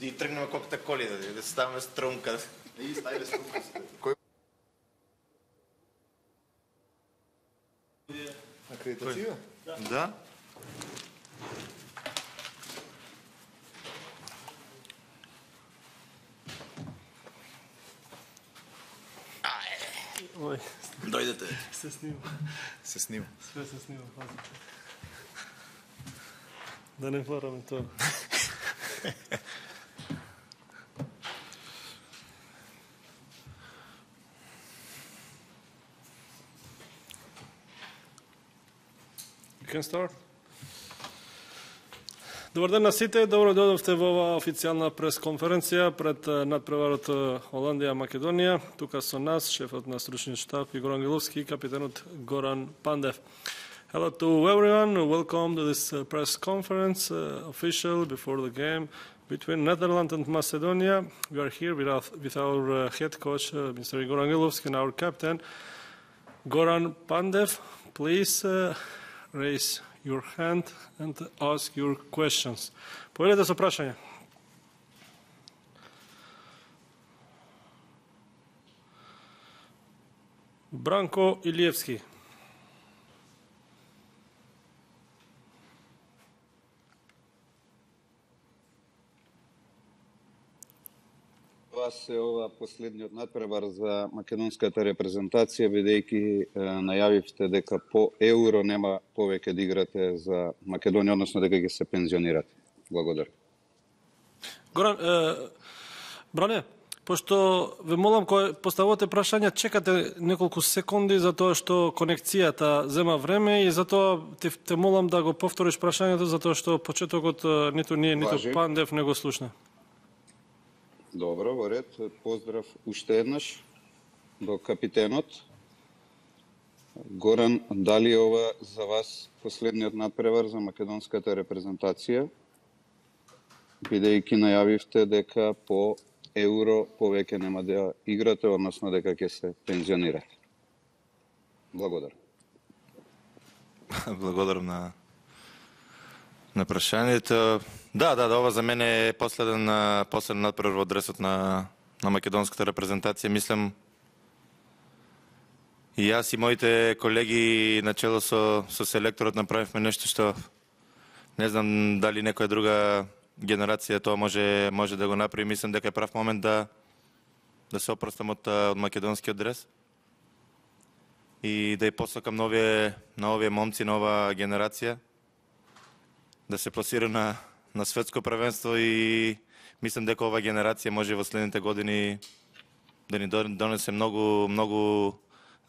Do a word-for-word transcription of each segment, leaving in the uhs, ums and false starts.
и тргнеме колката коли, да, да ставаме струнка. И ставиле струнка. Акредитација? Да. Ой, Дојдете. се снима. Се снима. Све се снима, пазите. Да не мораме тоа. You can start. Добар ден на сите, добро дојдовте во оваа официјална пресконференција пред надпреварот Холандија-Македонија. Тука со нас, шефот на стручниот штаб Игор Ангеловски и капитенот Горан Пандев. Hello to everyone, welcome to this uh, press conference, uh, official before the game between Netherlands and Macedonia. We are here with our, with our uh, head coach, uh, Mister Igor Angelovski, and our captain, Goran Pandev. Please uh, raise your hand and ask your questions. Povedете со прашање. Бранко Илиевски. Вас е ова последниот надпревар за македонската репрезентација, бидејќи најавивте дека по Еуро нема повеќе да играте за Македонија, односно дека ќе се пензионирате. Благодарам. Горан, е, Бране, пошто ве молам кој поставувате прашања, чекате неколку секунди за тоа што конекцијата зема време и затоа те, те молам да го повториш прашањето затоа што почетокот ниту ние, ниту Важи. Пандев не го слушна. Добро, во ред. Поздрав уште еднаш до капитенот. Горан, дали ова за вас последниот надпревар за македонската репрезентација, бидејќи најавивте дека по Еуро повеќе нема да играте, односно дека ќе се пензионирате? Благодарам. Благодарам на на прашањето. Да, да, да, ова за мене е последен последен надпревар во дресот на на македонската репрезентација. Мислам и јас и моите колеги начело со со селекторот направивме нешто што не знам дали некоја друга генерација тоа може може да го направи. Мислам дека е прав момент да да се опростам од, од македонскиот дрес и да ја посакам на овие на овие момци, нова генерација да се пласира на на светско првенство и мислам дека ова генерација може во следните години да ни донесе многу многу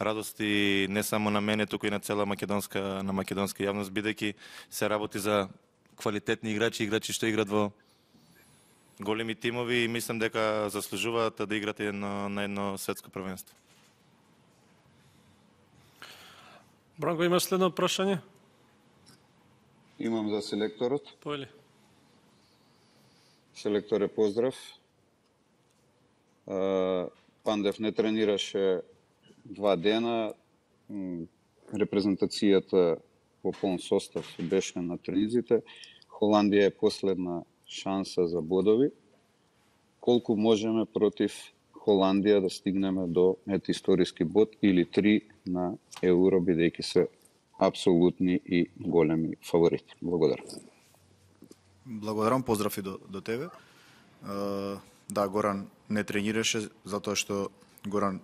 радости не само на мене, туку и на цела македонска на македонска јавност, бидејќи се работи за квалитетни играчи, играчи што играат во големи тимови и мислам дека заслужуваат да играат едно, на едно светско првенство. Бранко, имаш следно прашање? Имам за селекторот. Појли. Селекторе, поздрав. Пандев не тренираше два дена. Репрезентацијата по полн состав беше на тренизите. Холандија е последна шанса за бодови. Колку можеме против Холандија да стигнеме до ет историски бод или три на Еуро, бидејќи се апсолутни и големи фаворити. Благодарам. Благодарам, поздрав и до, до тебе. Да, Горан не тренираше, затоа што Горан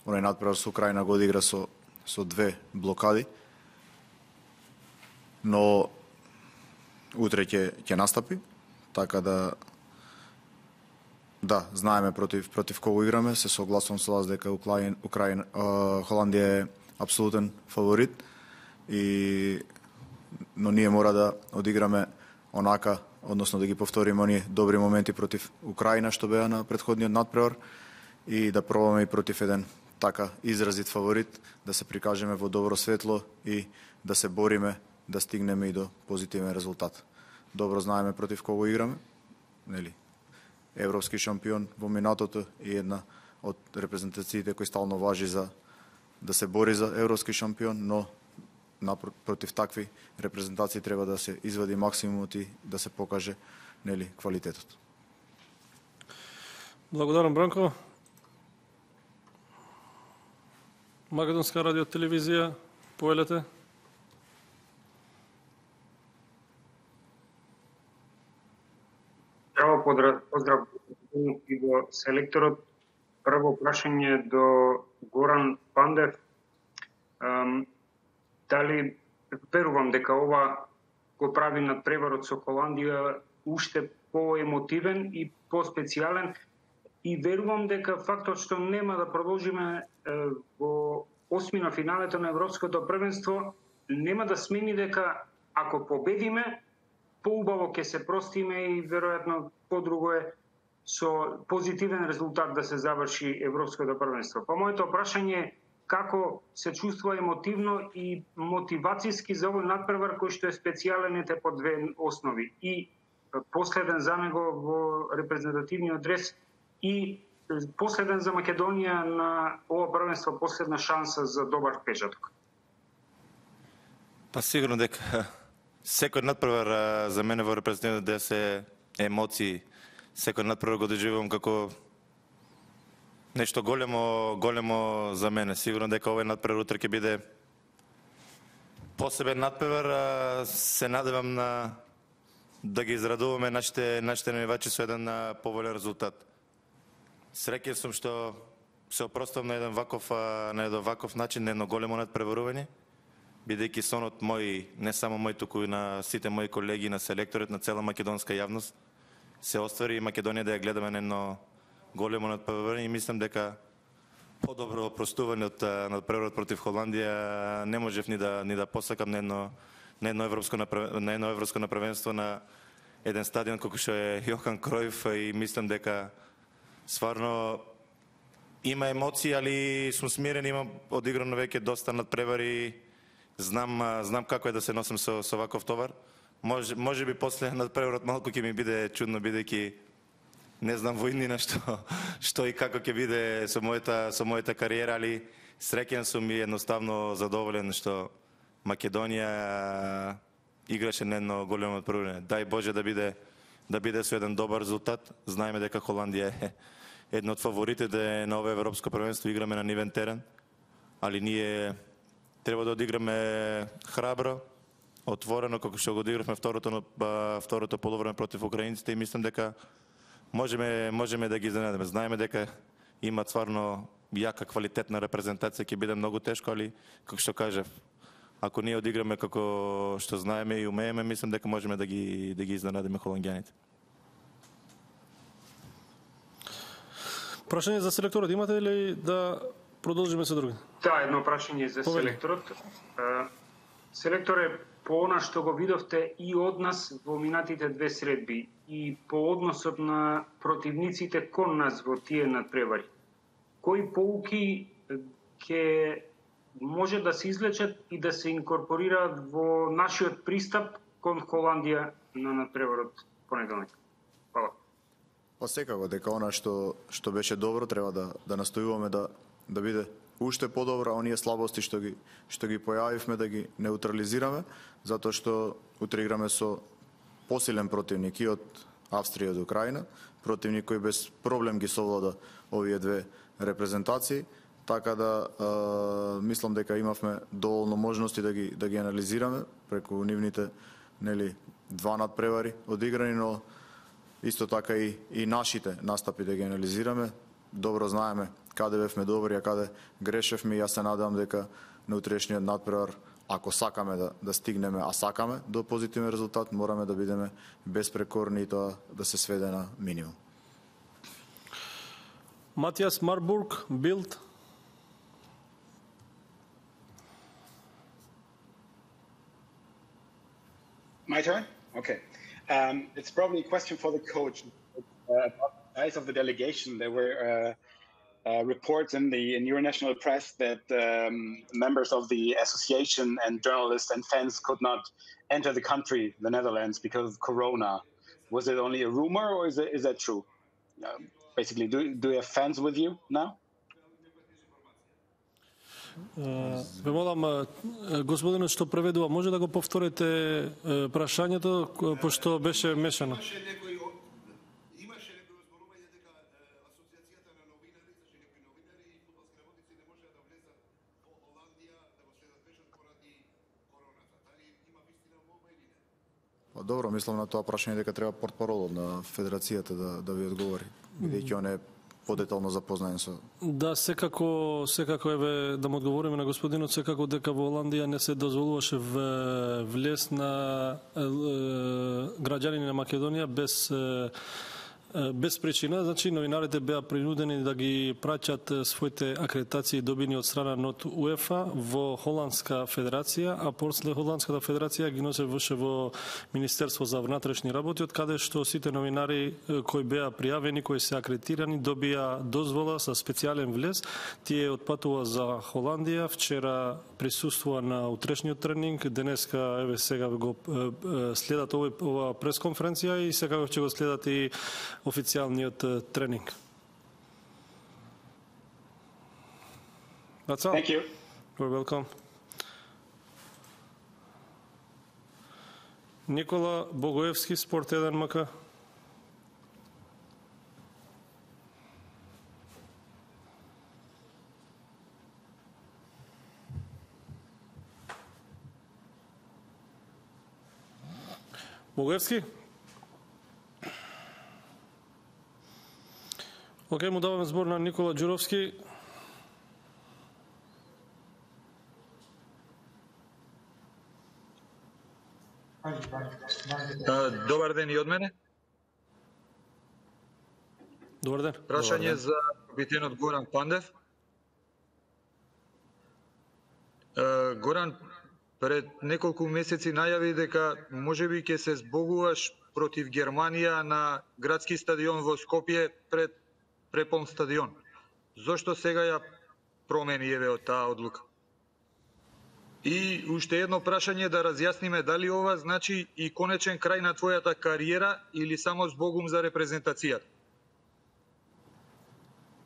онај надпревар со Украина го одигра со, со две блокади, но утре ќе ќе настапи, така да да, знаеме против против кого играме, се согласувам со вас дека Украина, Украина Холандија е апсолутен фаворит и но ние мора да одиграме онака, односно да ги повториме оние добри моменти против Украина што беа на претходниот надпревар и да пробаме и против еден така изразит фаворит, да се прикажеме во добро светло и да се бориме да стигнеме и до позитивен резултат. Добро знаеме против кого играме, нели? Европски шампион во минатото и една од репрезентациите кои стално важи за да се бори за европски шампион, но против такви репрезентации треба да се извади максимумот и да се покаже, нели, квалитетот. Благодарам, Бранко. Македонска радио телевизија, поелете. Здраво, поздрав, поздрав и до селекторот. Прво прашање до Горан Пандев. Um, дали верувам дека ова го прави надпреварот со Холандија уште поемотивен и поспецијален, и верувам дека фактот што нема да продолжиме е, во осмина финалето на Европското првенство нема да смени дека ако победиме, поубаво ќе се простиме и веројатно подруго е со позитивен резултат да се заврши Европското првенство. Па моето прашање е како се чувствува емотивно и мотивацијски за овој надпревар кој што е специјален ете по две основи. И последен за него во репрезентативниот дрес и последен за Македонија на ова првенство, последна шанса за добар печаток. Па сигурно дека секој надпревар за мене во репрезентативниот дрес е емоции. Секој надпревар го доживувам како нешто големо, големо за мене. Сигурно дека овој надпревар утре ќе биде посебен надпревар. Се надевам на да ги израдуваме нашите нашите навивачи со еден поволен резултат. Среќен сум што се опростам на еден ваков на еден ваков начин, на едно големо надпреварување, бидејќи сонот мој, не само мој, туку и на сите мои колеги, на селекторот, на цела македонска јавност, се оствари и Македонија да ја гледаме на едно големо надпреварување и мислам дека подобро опростување од надпреварот против Холандија не можев ни да ни да посакам на едно на едно европско на едно европско првенство на еден стадион како што е Јохан Кројф, и мислам дека стварно има емоции, али сум смирен, имам одиграно веќе доста надпревари, знам знам како е да се носам со со ваков товар. Може може би после надпреварот малку ќе ми биде чудно, бидејќи не знам во иднина што што и како ќе биде со мојата со мојата кариера, али среќен сум и едноставно задоволен што Македонија играше на едно големо надпреварување. Дај Боже да биде да биде со еден добар резултат. Знаеме дека Холандија е едно од фаворитите на ова европско првенство, играме на нивен терен, али ние треба да одиграме храбро, отворено, како што го одигравме второто второто полувреме против украинците, и мислам дека можеме можеме да ги изненадиме. Знаеме дека имаат стварно јака квалитетна репрезентација, ќе биде многу тешко, али како што кажав, ако ние одиграме како што знаеме и умееме, мислам дека можеме да ги да ги изненадиме холанѓаните. Прашање за селекторот имате ли да продолжиме со други? Да, едно прашање за Повели. селекторот. Селекторе, по она што го видовте и од нас во минатите две средби и по односот на противниците кон нас во тие надпревари, кои поуки ќе може да се извлечат и да се инкорпорираат во нашиот пристап кон Холандија на надпреварот понеделник? Фала. Па секако дека она што што беше добро треба да да настојуваме да да биде уште подобро, а оние слабости што ги што ги појавивме да ги неутрализираме, затоа што утре играме со посилен противник и од Австрија и од Украина, противник кој без проблем ги совлада овие две репрезентации, така да е, мислам дека имавме доволно можности да ги да ги анализираме преку нивните нели два надпревари одиграни, но исто така и, и нашите настапи да ги анализираме. Добро знаеме каде бевме добри, а каде грешевме, и јас се надевам дека на утрешниот надпревар, ако сакаме да, да стигнеме, а сакаме до позитивен резултат, мораме да бидеме безпрекорни и тоа да се сведе на минимум. Матијас Марбург, Билд. My turn? Okay. Um, it's probably a question for the coach. Uh, about the size of the delegation, there were uh, uh, reports in the in your national press that um, members of the association and journalists and fans could not enter the country, the Netherlands, because of Corona. Was it only a rumor, or is it is that true? Uh, basically, do do you have fans with you now? Ве молам, господинот што преведува, може да го повторите прашањето, пошто беше мешано. Па добро, мислам на тоа прашање дека треба портпаролот на федерацијата да да ви одговори, бидејќи он е подетално запознаен со. Да, секако, секако еве да му одговориме на господинот, секако дека во Холандија не се дозволуваше влез на е, граѓани на Македонија без е, без причина, значи новинарите беа принудени да ги праќат своите акредитации добини од страна од УЕФА во Холандска федерација, а после Холандската федерација ги носе ваше во Министерство за внатрешни работи, од каде што сите новинари кои беа пријавени, кои се акредитирани, добија дозвола со специјален влез. Тие отпатува за Холандија, вчера присуствува на утрешниот тренинг, денеска еве сега го следат овој ова пресконференција и секако ќе го следат и официјалниот тренинг. That's all. Thank you. You're welcome. Никола Богоевски, Спорт еден МК. Богоевски? Океј, му даваме збор на Никола Ѓуровски. Добар ден и од мене. Добар ден. Прашање за капитенот Горан Пандев. Горан, пред неколку месеци најави дека можеби ќе се збогуваш против Германија на градски стадион во Скопје пред преполн стадион. Зошто сега ја промени еве од таа одлука? И уште едно прашање да разјасниме дали ова значи и конечен крај на твојата кариера или само збогум за репрезентацијата?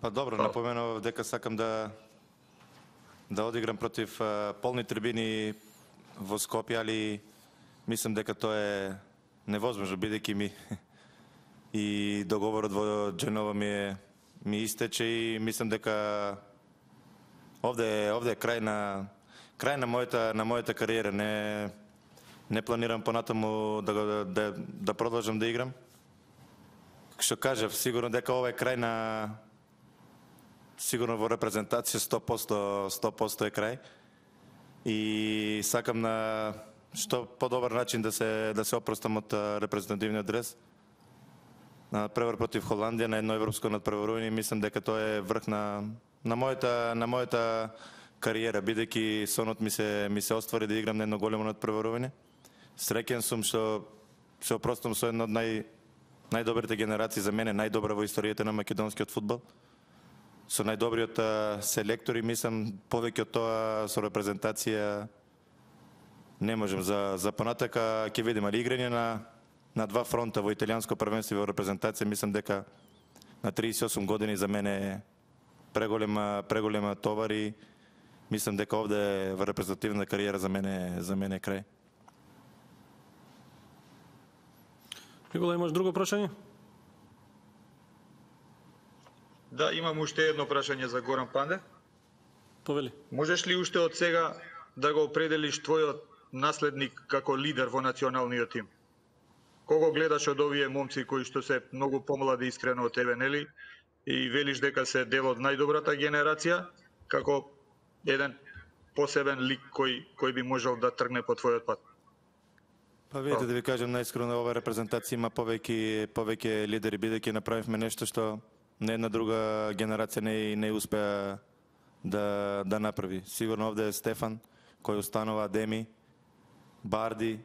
Па добро, напоменав дека сакам да да одиграм против а, полни трибини во Скопје, али мислам дека тоа е невозможно, бидејќи ми и договорот во Џенова ми е ми истече и мислам дека овде овде е крај на крај на мојата на мојата кариера. Не не планирам понатаму да да да, да продолжам да играм. Што кажав, сигурно дека ова е крај на сигурно во репрезентација сто проценти сто проценти е крај. И сакам на што подобар начин да се да се опростам од репрезентативниот дрес. На превар против Холандија на едно европско надпреварување, мислам дека тоа е врх на на мојата на мојата кариера, бидејќи сонот ми се ми се оствари да играм на едно големо надпреварување. Среќен сум што се опростам со една од нај најдобрите генерации за мене, најдобра во историјата на македонскиот фудбал. Со најдобриот селектори, мислам, повеќе од тоа со репрезентација не можем. За за понатака ќе видиме, али играње на на два фронта во италијанско првенство и во репрезентација, мислам дека на триесет и осум години за мене е преголема преголема товар и мислам дека овде во репрезентативна кариера за мене за мене е крај. Никола, имаш друго прашање? Да, имам уште едно прашање за Горан Пандев. Повели. Можеш ли уште од сега да го определиш твојот наследник како лидер во националниот тим? Кого гледаш од овие момци кои што се многу помлади искрено од тебе, нели? И велиш дека се дел од најдобрата генерација, како еден посебен лик кој кој би можел да тргне по твојот пат? Па видите, да ви кажам најискрено, ова репрезентација има повеќе повеќе лидери, бидејќи направивме нешто што не една друга генерација не не успеа да да направи. Сигурно овде е Стефан кој останува, Деми, Барди,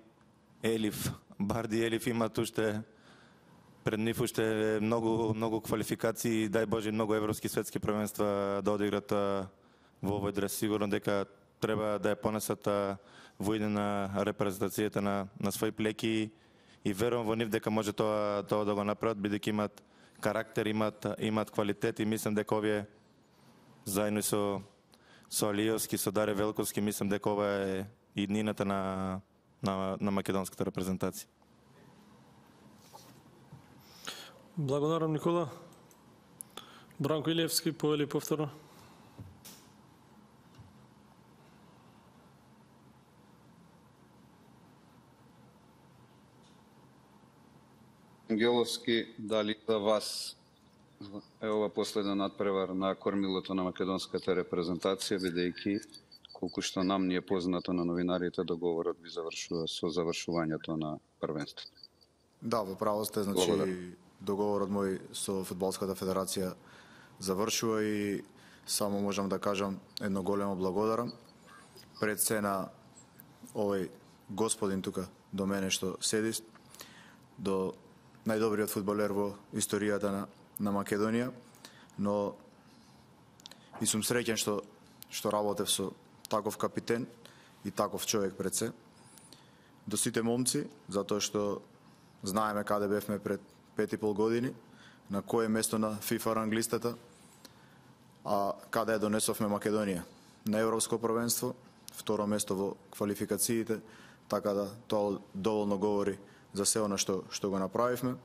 Елиф. Барди и Елиф имаат уште пред нив уште многу многу квалификации, дај Боже многу европски светски првенства да одиграт во овој дрес. Сигурно дека треба да ја понесат во иде на репрезентацијата на на своји плеки и верувам во нив дека може тоа тоа да го направат, бидејќи имаат карактер, имаат имаат квалитет и мислам дека овие заедно со со Алиевски, со Даре Велковски, мислам дека ова е иднината на на на македонската репрезентација. Благодарам, Никола. Бранко Илиевски, повели повторно. Ангеловски, дали за вас е ова последен надпревар на кормилото на македонската репрезентација, бидејќи колку што нам ни е познато на новинарите, договорот би завршува со завршувањето на првенството? Да, во право сте, значи благодарам. Договорот мој со Фудбалската федерација завршува и само можам да кажам едно големо благодарам пред се на овој господин тука до мене што седи, до најдобриот фудбалер во историјата на, на Македонија, но и сум среќен што што работев со таков капитен и таков човек пред се. До сите момци, затоа што знаеме каде бевме пред пет и пол години, на кое место на FIFA ранглистата, а каде донесовме Македонија? На Европско првенство, второ место во квалификациите, така да тоа доволно говори за се она што што го направивме,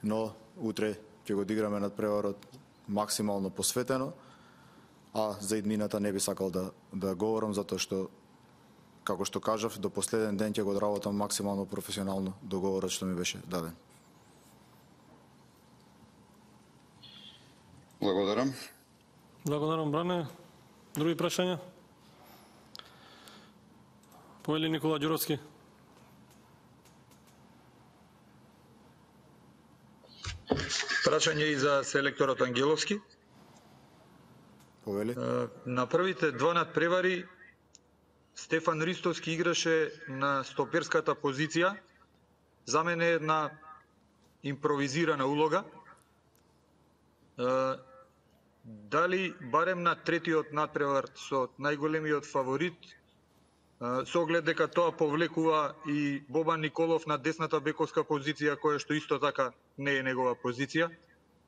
но утре ќе го одиграме надпреварот максимално посветено, а за иднината не би сакал да да говорам затоа што како што кажав, до последен ден ќе го одработам максимално професионално договорот што ми беше даден. Благодарам. Благодарам, Бране. Други прашања? Повели Никола Ѓуровски. Прашање и за селекторот Ангеловски. Повели. На првите два надпревари Стефан Ристовски играше на стоперската позиција. За мене е една импровизирана улога. Дали барем на третиот надпревар со најголемиот фаворит, со оглед дека тоа повлекува и Бобан Николов на десната бековска позиција, која што исто така не е негова позиција,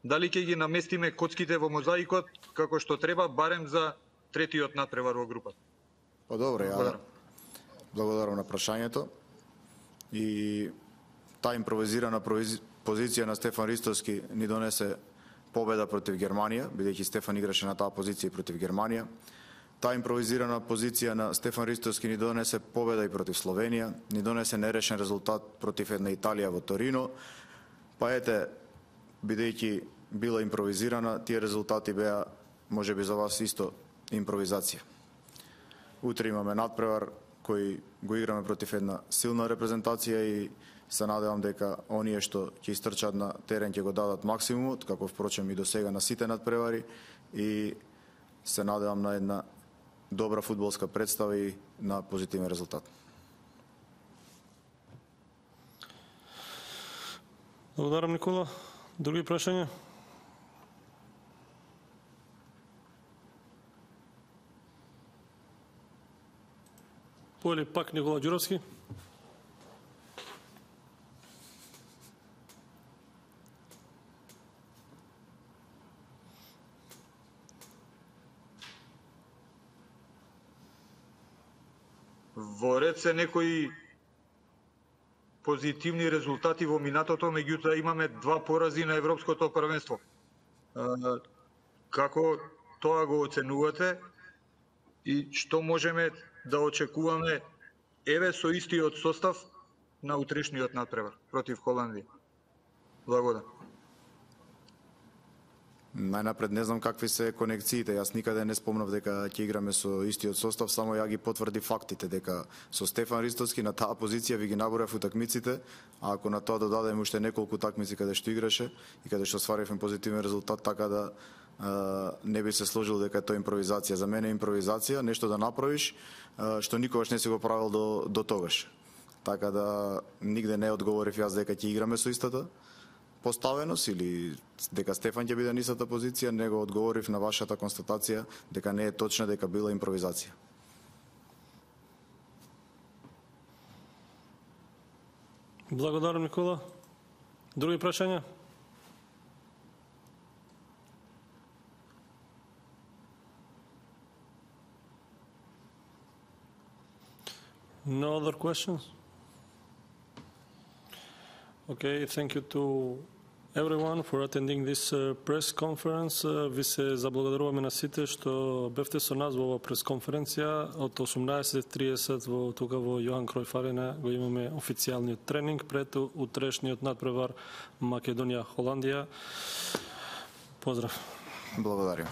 дали ќе ги наместиме коцките во мозаикот како што треба барем за третиот надпревар во групата? Па добро, ја благодарам на прашањето. И таа импровизирана позиција на Стефан Ристовски ни донесе победа против Германија, бидејќи Стефан играше на таа позиција против Германија. Таа импровизирана позиција на Стефан Ристовски ни донесе победа и против Словенија, ни донесе нерешен резултат против една Италија во Торино. Па ете, бидејќи била импровизирана, тие резултати беа можеби за вас исто импровизација. Утре имаме надпревар кој го играме против една силна репрезентација и се надевам дека оние што ќе истрчат на терен ќе го дадат максимумот, како впрочем и до сега на сите надпревари, и се надевам на една добра фудбалска представа и на позитивен резултат. Благодарам, Никола. Други прашања? Повели пак Никола Ѓуровски. Во ред се некои позитивни резултати во минатото, меѓутоа имаме два порази на Европското првенство. Како тоа го оценувате и што можеме да очекуваме еве со истиот состав на утрешниот надпревар против Холандија? Благодарам. Најнапред не знам какви се конекциите. Јас никаде не спомнав дека ќе играме со истиот состав, само ја ги потврди фактите дека со Стефан Ристовски на таа позиција ви ги наборев утакмиците, а ако на тоа додадеме уште неколку такмици каде што играше и каде што сваривме позитивен резултат, така да а, не би се сложил дека тоа е импровизација. За мене е импровизација, нешто да направиш а, што никогаш не си го правил до, до тогаш. Така да нигде не одговорив јас дека ќе играме со истата поставеност или дека Стефан ќе биде на истата позиција, него одговорив на вашата констатација дека не е точна, дека била импровизација. Благодарам, Никола. Други прашања? No other questions? Okay, thank you to everyone for attending this uh, press conference. Uh, ви се заблагодаруваме на сите што бевте со нас во ова пресконференција. Од осумнаесет и тридесет во тука во Јохан Кројф арена го имаме официјалниот тренинг пред утрешниот надпревар Македонија Холандија. Поздрав. Благодарам.